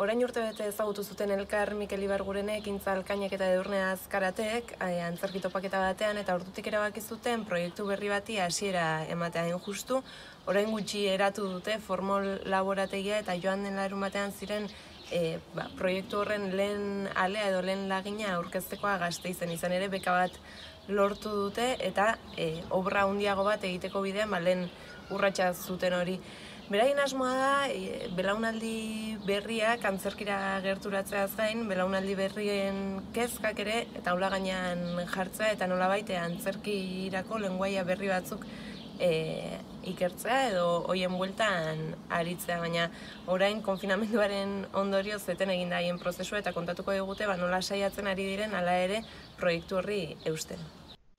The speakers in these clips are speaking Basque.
orain urtebete ezagutu zuten elkar Mikel Ibargurenek, Intza Alkainek eta Edurne Azkaratek, antzerki topaketa batean, eta ordutik erabaki zuten proiektu berri bati hasiera ematea hain justu. Orain gutxi eratu dute formol laborategia eta joan den larunbatean ziren proiektu horren lehen alea edo lehen lagina aurkeztekoa Gasteizen. Izan ere beka bat lortu dute eta obra handiago bat egiteko bidean lehen urratsa zuten hori. Beraien asmoa da, belaunaldi berriak antzerkira gerturatzeaz gain, belaunaldi berrien kezkak ere taula gainean jartzea eta nolabait antzerkirako lengoaia berri batzuk ikertzea edo hoien bueltan aritzea, baina orain konfinamenduaren ondorio zeten egin da haien prozesua eta kontatuko digute nola saiatzen ari diren hala ere proiektu horri eusten.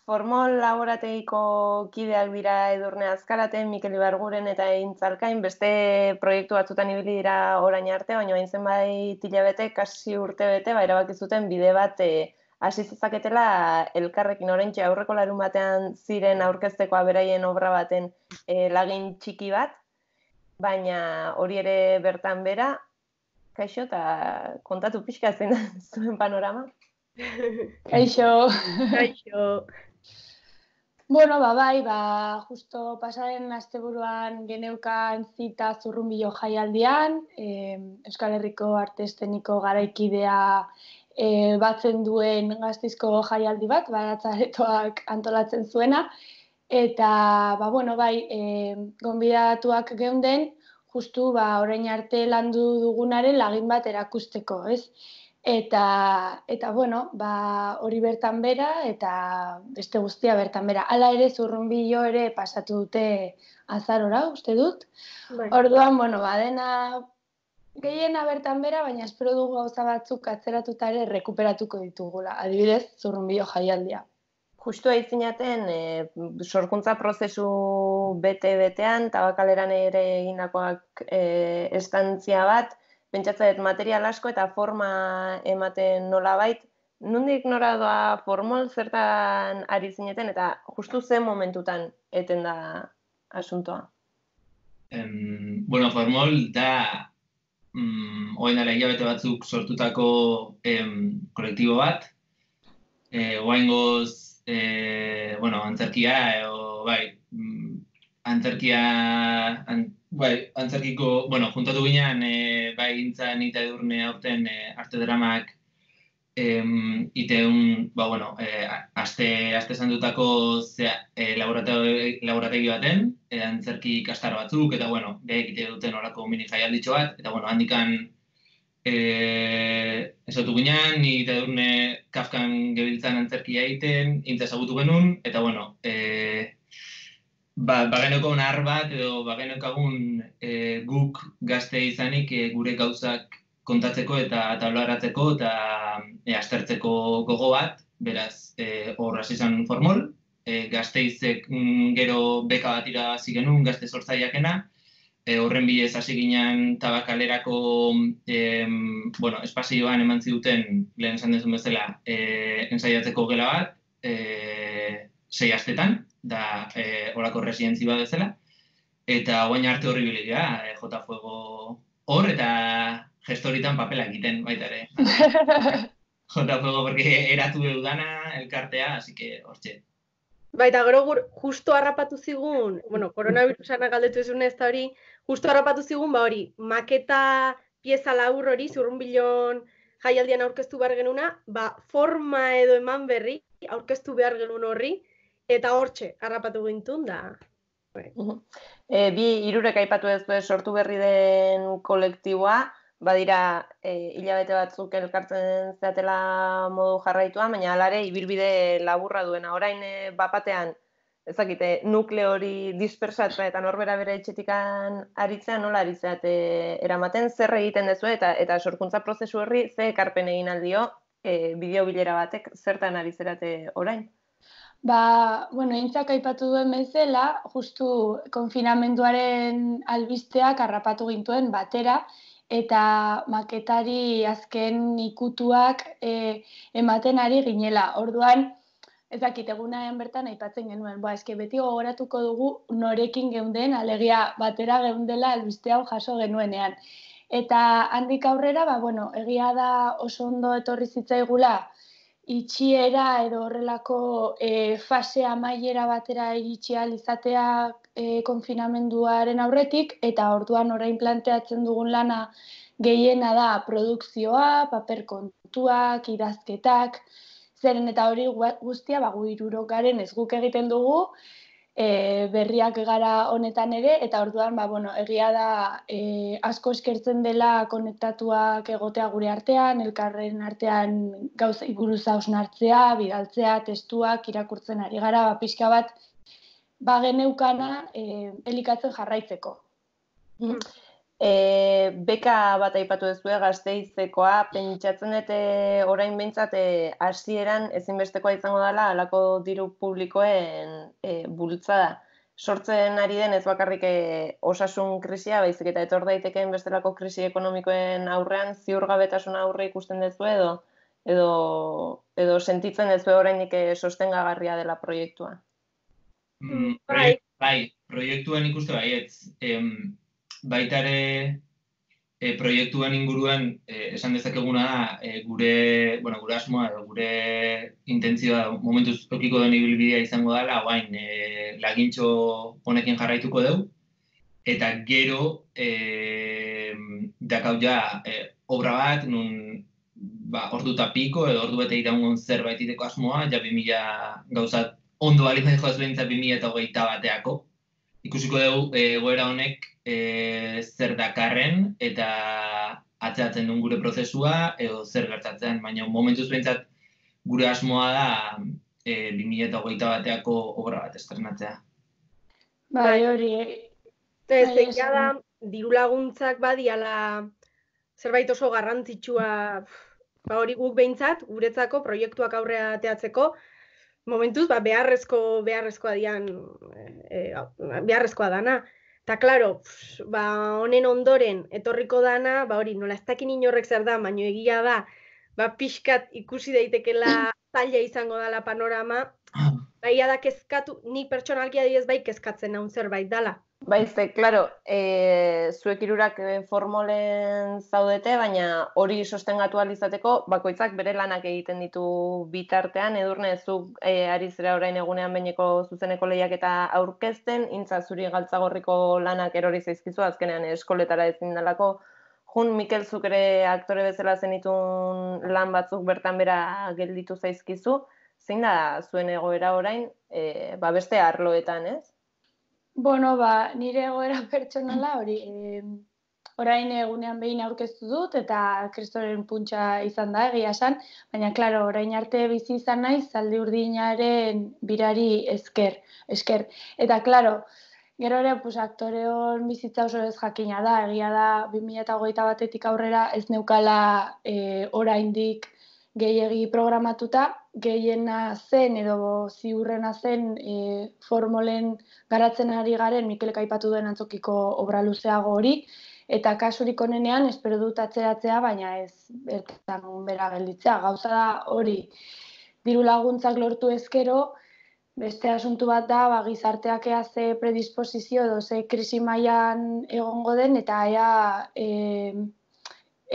Formol laborategiko kideak dira Edurne Azkarate, Mikel Ibarguren eta Intza Alkain, beste proiektu batzutan ibili dira orain arte, baina hain zenbait hilabete, kasi urtebete, erabaki zuten bide bat hasi zezaketela elkarrekin. Oraintxe aurreko larun batean ziren aurkeztekoa beraien obra baten lagin txiki bat, baina hori ere bertan bera. Kaixo, eta kontatu pixka zein zuen panorama? Kaixo. Bueno, justo pasaren asteburuan geneukan zita Zurrunbilo jaialdian, Euskal Herriko Arte Eszeniko garaikidea batzen duen Gasteizko jaialdi bat, Baratza-aretoak antolatzen zuena, eta gonbidatuak geunden, justu orain arte landu dugunaren lagin bat erakusteko, ez? Eta hori bertan bera eta beste guztia bertan bera. Hala ere Zurrunbilo ere pasatu dute azarora, uste dut. Orduan, dena gehiena bertan bera, baina espero dugu gauza batzuk atzeratuta ere rekuperatuko ditugula. Adibidez, Zurrunbilo jaialdia. Justu aitzinaten, sorkuntza prozesu bete-betean, Tabakaleran ere egindakoak estantzia bat, pentsatzen dut material asko eta forma ematen nolabait. Nondik nora doa formol, zertan ari zineten eta justu zen momentutan eten da asuntoa? Formol da orain dela hilabete batzuk sortutako kolektibo bat. Oraingoz antzerkia antzerkiko, juntatu ginean, Intza eta Edurne aurten arte dramak iteun, aste zandutako laborategi baten, antzerki ikastaro batzuk, eta, behek ite duten horako mini jaialditxo bat, eta, handikan esotu ginean, ni eta Edurne Kafkan gebiltzan antzerkia egiten, Intza ezagutu genuen, eta, bageneko nar bat edo bagenekagun guk gazte izanik gure gauzak kontatzeko eta tablaratzeko eta aztertzeko gogo bat, beraz hor hasi zen formol. Gazteizek gero beka bat irabazi genuen, Gazte Sortzaileakena, horren bidez hasi ginen Tabakalerako espazioan eman ziduten, lehen esan dezun bezala, ensaiatzeko gela bat, 6 astetan, da horako residentzi bat bezala, eta guain arte horri bilia, J. Fuego hor, eta gestoritan papela egiten baita ere. J. Fuego, porque eratu dudana elkartea, así que hortxe. Baita, gero justo harrapatu zigun, koronavirusana galdetu ezun ez da hori, justo harrapatu zigun, hori, maketa pieza labur hori, Zurrunbilon jaialdian aurkeztu behar genuna, forma edo eman berri aurkeztu behar genuen horri, eta hortxe, harrapatu gintun da. Hirurek aipatu ez sortu berri den kolektiboa, badira hilabete batzuk elkartzen zeatela modu jarraituan, baina alare ibilbide laburra duena. Orain bapatean, ezakite, nukleo hori dispersatzea eta norbera bere etxetikan aritzea, nola aritzeate eramaten, zer egiten dezu eta sorkuntza prozesu horri ze ekarpen egin aldio bideo bilera batek zertan aritzerate orain? Intzak aipatu duen bezala, justu konfinamenduaren albisteak harrapatu gintuen batera, eta maketari azken ikutuak ematen ari ginela. Orduan, ezakit, egunean bertan aipatzen genuen, beti gogoratuko dugu norekin geunden, alegia batera geundela albiste hau jaso genuenean. Eta handik aurrera, bueno, egia da oso ondo etorri zitzaigula itxiera edo horrelako fase amaiera batera iritsi ahal izatea konfinamenduaren aurretik, eta orduan orain planteatzen dugun lana gehiena da produkzioa, paper kontuak, idazketak, zeren eta hori guztia gu hirurok garen ez guk egiten dugu, berriak gara honetan ere, eta orduan egia da asko eskertzen dela konektatuak egotea gure artean, elkarren artean gauzei buruz hausnartzea, bidaltzea, testuak irakurtzen ari gara, pixka bat geneukana elikatzen jarraitzeko. Beka bat aipatu duzue Gasteizekoa, pentsatzen dut orain behintzat hasieran ezinbestekoa izango dela halako diru publikoen bultzada. Sortzen ari den ez bakarrik osasun krisia, baizik eta etor daitekeen bestelako krisi ekonomikoen aurrean ziurgabetasuna aurre ikusten duzu edo sentitzen duzu orainik sostengagarria dela proiektua. Bai, proiektuan ikuste baietz. Baita ere proiektuan inguruan esan dezakeguna da gure asmoa edo gure intentzioa momentuz tokiko den ibilbidea izango dela, orain lagintxo honekin jarraituko dugu, eta gero dakau ja obra bat nun ordu eta piko edo ordu bete iraungon zerbait iteko asmoa, ja 2000 gauzat ondo balitzen joaz behintzat 2021 bateako. Ikusiko dugu egoera honek zer dakarren eta atzeatzen duen gure prozesua edo zer gertatzen, baina momentuz behintzat gure asmoa da 2021 bateako obra bat estrenatzea. Bai, hori. Egia da, diru laguntzak badiala zerbait oso garrantzitsua, hori guk behintzat, guretzako proiektuak aurrea ateatzeko, momentuz beharrezkoa dana. Eta, klaro, honen ondoren etorriko dana, hori nola ez dakin inorrek zer da, baino egia da, pixkat ikusi daitekela zaila izango dela panorama, baina da kezkatu, nik pertsonalki adibidez bai kezkatzen naun zerbait dela. Baize, klaro, zuek hirurak formolen zaudete, baina hori sostengatu ahal izateko, bakoitzak bere lanak egiten ditu bitartean, Edurne, zuk ari zera orain egunean behineko zuzeneko lehiaketa aurkezten, intza zuri galtzagorriko lanak erori zaizkizu, azkenean eskoletara ezin dalako. Jun, Mikel, zuk ere aktore bezala zenitun lan batzuk bertan bera gelditu zaizkizu, zein da zuen egoera orain, beste arloetan, ez? Nire egoera pertsonala hori orain egunean behin aurkeztu dut eta kristoren puntxa izan da egia esan, baina klaro, orain arte bizi izan naiz zaldi urdinaren birari esker. Eta klaro, gero ere aktoreon bizitza oso ez jakina da, egia da 2021 batetik aurrera ez neukala oraindik gehiegi programatuta, gehiena zen edo ziurrena zen formolen garatzen ari garen Mikelek aipatu duen antzokiko obra luzeago hori, eta kasurik onenean espero dut atzeratzea, baina ez bertan bera gelditzea. Gauza da hori, diru laguntzak lortu ezkero, beste asuntu bat da, gizarteak ea ze predisposizio edo ze krisi mailan egongo den, eta ea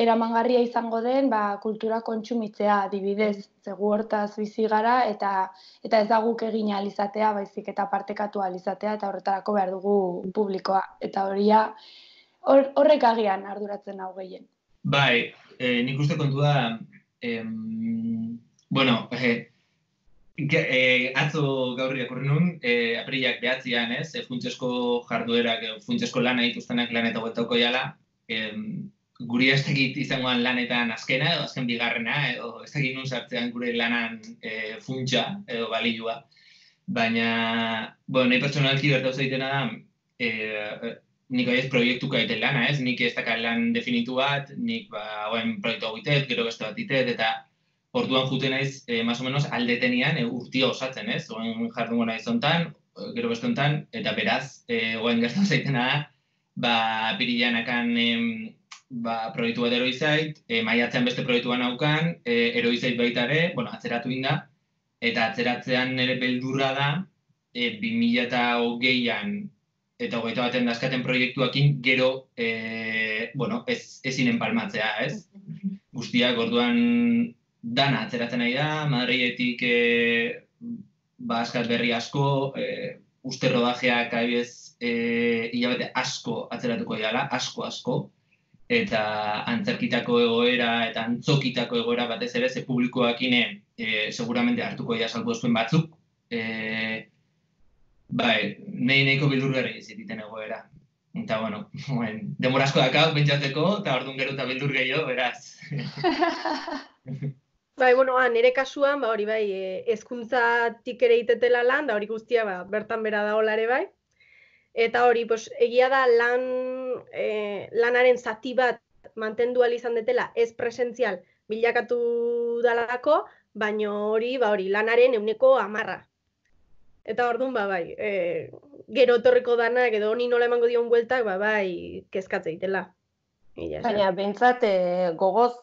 eramangarria izango den kultura kontsumitzea adibidez, zegu hortaz bizi gara eta ez da guk egin ahal izatea, baizik eta partekatu ahal izatea eta horretarako behar dugu publikoa. Eta horrek agian arduratzen hau gehien. Bai, nik uste kontu da, atzo gaur irakurri nun, aprilak 9an, ez, funtsesko jarduerak, funtsesko lana dituztenak lan eta bueltauko jala, guri ez dakit izangoan lanetan azkena edo azken bigarrena, edo ez dakit nun sartzean gure lanan funtsa edo balioa. Baina, nahi pertsonalki bertau zaitena da, nik aiz proiektuka egiten lana, ez? Nik ez dakar lan definitu bat, nik proiektu hau itet, gero beste bat itet, eta orduan juten naiz, más o menos, aldetenian urtia osatzen, ez? Oen jardungo nahi zontan, gero beste hontan, eta beraz, oen gertatu zaitena da, apirileanakan proiektu bat eroi zait, maiatzean beste proiektuan naukan, eroi zait baita ere, atzeratu inda, eta atzeratzean nire beldurra da, 2020an eta 21 dazkaten proiektuakin gero, bueno, ezinen palmatzea, ez? Guztiak orduan dana atzeratzen nahi da, Madriletik askat berri asko, uste rodajeak adibidez hilabete asko atzeratuko dira, asko, eta antzerkitako egoera eta antzokitako egoera batez ere, ze publikoakine seguramente hartuko dira salbuespuen batzuk, bai, nahiko bildurgarri izititen egoera. Eta, bueno, demora asko dakau pentsatzeko, eta orduan gero eta bildur gehiago, beraz. Bai, bueno, nire kasuan, hori bai, hezkuntzatik ere itetela lan, da hori guztia bertan bera dagoela ere bai. Eta hori, egia da lanaren zati bat mantendu ahal izan detela ez presentzial bilakatu dalako, baina hori lanaren 100%. Eta orduan, bai, gero etorriko danak edo honi nola emango dion bueltak, bai, kezkatze itela. Baina, behintzat, gogoz,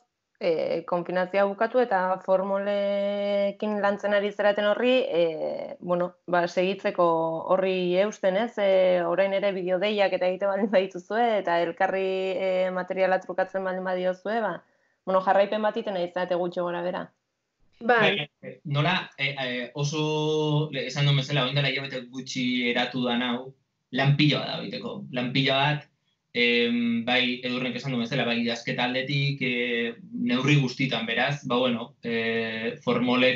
konfinazioa bukatu eta formolekin lantzen ari zeraten horri, bueno, segitzeko horri eusten, ez? Orain ere bideodeiak eta egite baldin badituzue, eta elkarri materiala trukatzen baldin badiozue, bueno, jarraipen bat iten izate gutxo gora bera. Bai. Nola, oso, esan duen bezala, oin dela hilabete gutxi eratu da nau, lan pila bat da biteko. Lan pila bat, bai, Edurnek esan duen bezala, bai, idazketa aldetik, neurri guztitan, beraz, bueno, formoli,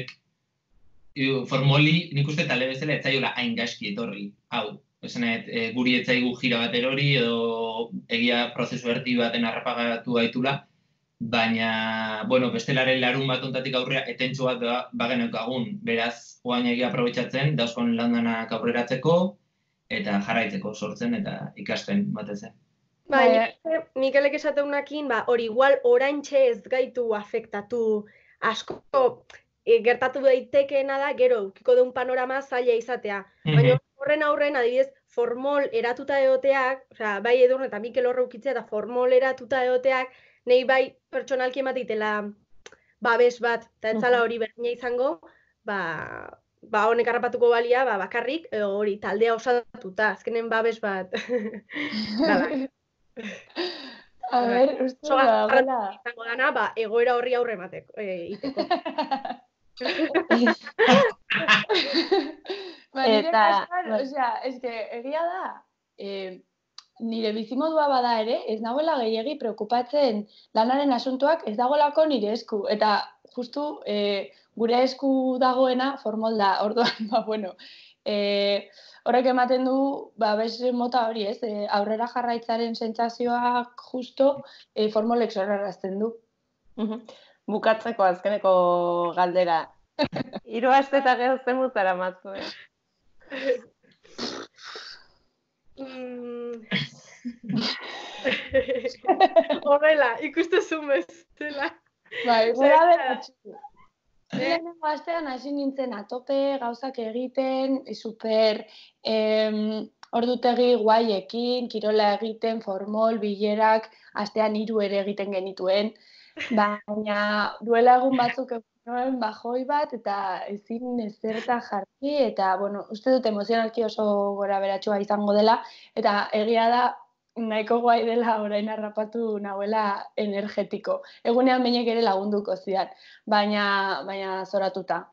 nik uste talde bezala etzaiola hain gaizki etorri, hau. Esanet, guri etzaigu jira bat erori, edo egia prozesu erdi baten harrapagatu gaitula, baina, bueno, bestelaren larun bat ontatik aurrera etentxo bat bageneukagun, beraz, oain egia aprobetxatzen, dauzkon landanak aurreratzeko, eta jarraitzeko sortzen eta ikasten batez. Bai, Mikelek esateunakin, hori igual oraintxe ez gaitu afektatu asko, gertatu daitekeena da, gero, ukiko deun panorama zaila izatea. Baina horren aurren, adibidez, formol eratuta egoteak, bai Edurne eta Mikel horre ukitzea eta formol eratuta egoteak, nahi bai pertsonalki ematitela babes bat, eta entzala hori berdina izango, honek harrapatuko balia, bakarrik, hori taldea osatuta, azkenen babes bat. A ber, uste da, gola. Izango dana, egoera horri aurre emateko, iteko. Nire kasuan, egia da, nire bizimodua bada ere, ez nagoela gehiegi preokupatzen lanaren asuntoak ez dagoelako nire esku. Eta justu gure esku dagoena formolda, orduan, bueno, horrek ematen du, beste mota hori ez, aurrera jarraitzaren sentsazioak justo formolek zorrarazten du. Bukatzeko azkeneko galdera. 3 aste eta gero zen zara matzue. Horrela, ikustezun bezala. Bai, gora beratxu. Lehenengo astean hasi nintzen atope, gauzak egiten, super ordutegi guaiekin, kirola egiten, formol, bilerak, astean 3 ere egiten genituen. Baina duela egun batzuk egun bajoi bat eta ezin ezerta jarri eta, bueno, uste dut emozionalki oso gora beratxua izango dela eta egia da nahiko guai dela orain harrapatu nagoela energetiko. Egunean bainek ere lagunduko zidan, baina zoratuta,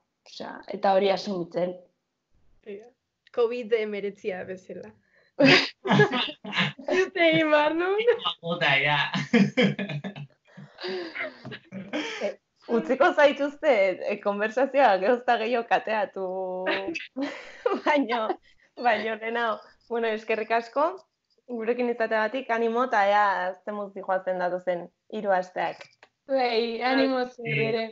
eta hori asumitzen. COVID-19 bezala. Zute egin behar nun? Ota, ja. Utziko zaituzte, konversazioa gerozta gehiago kateatu, baino lehenau. Bueno, eskerrik asko, gurekin izateagatik, animo eta ea zemuz dijoazen datozen 3 asteak. Animo zer ere.